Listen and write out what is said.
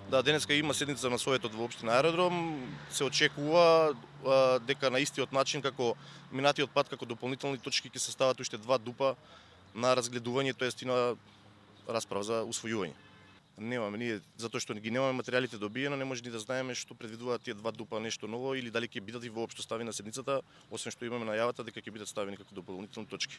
Да, денеска има седница на Советот во општина Аеродром. Се очекува дека на истиот начин како минатиот пат, како дополнителни точки ќе се стават уште 2 дупа на разгледување, тоест и на расправа за усвојување. Немаме ние, затоа што ги немаме материјалите добиено, не може ни да знаеме што предвидуваат тие 2 дупа нешто ново или дали ќе бидат и воопшто ставени на седницата, освен што имаме најавата дека ќе бидат ставени како дополнителни точки.